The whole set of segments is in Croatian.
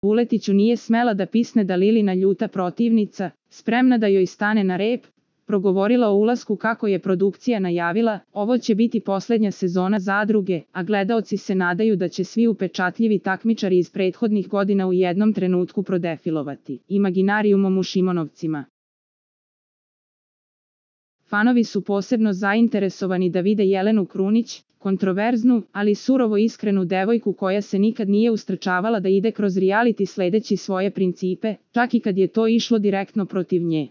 Vuletiću nije smela da pisne da Lilina ljuta protivnica, spremna da joj stane na rep, progovorila o ulasku kako je produkcija najavila, ovo će biti posljednja sezona Zadruge, a gledaoci se nadaju da će svi upečatljivi takmičari iz prethodnih godina u jednom trenutku prodefilovati imaginarijumom u Šimonovcima. Fanovi su posebno zainteresovani da vide Jelenu Krunić, kontroverznu, ali surovo iskrenu devojku koja se nikad nije ustrčavala da ide kroz reality sledeći svoje principe, čak i kad je to išlo direktno protiv nje.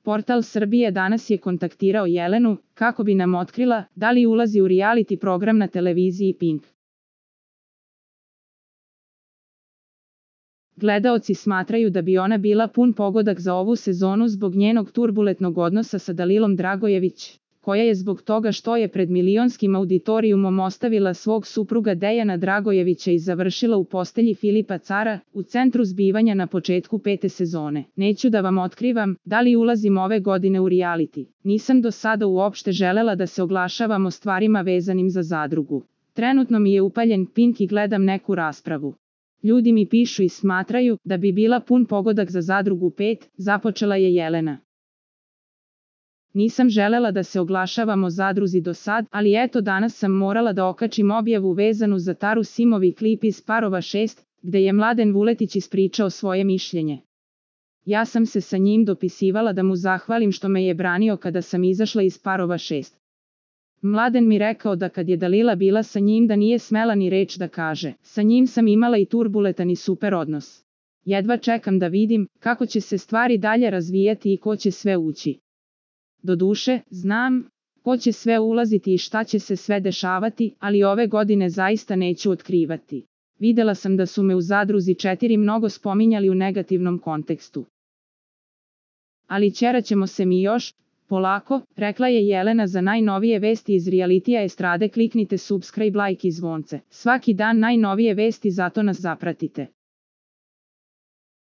Portal Srbije danas je kontaktirao Jelenu, kako bi nam otkrila da li ulazi u reality program na televiziji Pink. Gledaoci smatraju da bi ona bila pun pogodak za ovu sezonu zbog njenog turbulentnog odnosa sa Dalilom Dragojević, koja je zbog toga što je pred milionskim auditorijumom ostavila svog supruga Dejana Dragojevića i završila u postelji Filipa Cara, u centru zbivanja na početku 5. sezone. Neću da vam otkrivam da li ulazim ove godine u reality. Nisam do sada uopšte želela da se oglašavam o stvarima vezanim za Zadrugu. Trenutno mi je upaljen Pink i gledam neku raspravu. Ljudi mi pišu i smatraju da bi bila pun pogodak za Zadrugu 5, započela je Jelena. Nisam želela da se oglašavam o Zadruzi do sad, ali eto danas sam morala da okačim objavu vezanu za Taru Simovi klip iz Parova 6, gde je Mladen Vuletić ispričao svoje mišljenje. Ja sam se sa njim dopisivala da mu zahvalim što me je branio kada sam izašla iz Parova 6. Mladen mi rekao da kad je Dalila bila sa njim da nije smela ni reč da kaže. Sa njim sam imala i turbulentan i super odnos. Jedva čekam da vidim kako će se stvari dalje razvijati i ko će sve ući. Doduše, znam ko će sve ulaziti i šta će se sve dešavati, ali ove godine zaista neću otkrivati. Videla sam da su me u Zadruzi 4 mnogo spominjali u negativnom kontekstu. Ali ćeraćemo se mi još, polako, rekla je Jelena. Za najnovije vesti iz realitija estrade kliknite subscribe, like i zvonce. Svaki dan najnovije vesti, zato nas zapratite.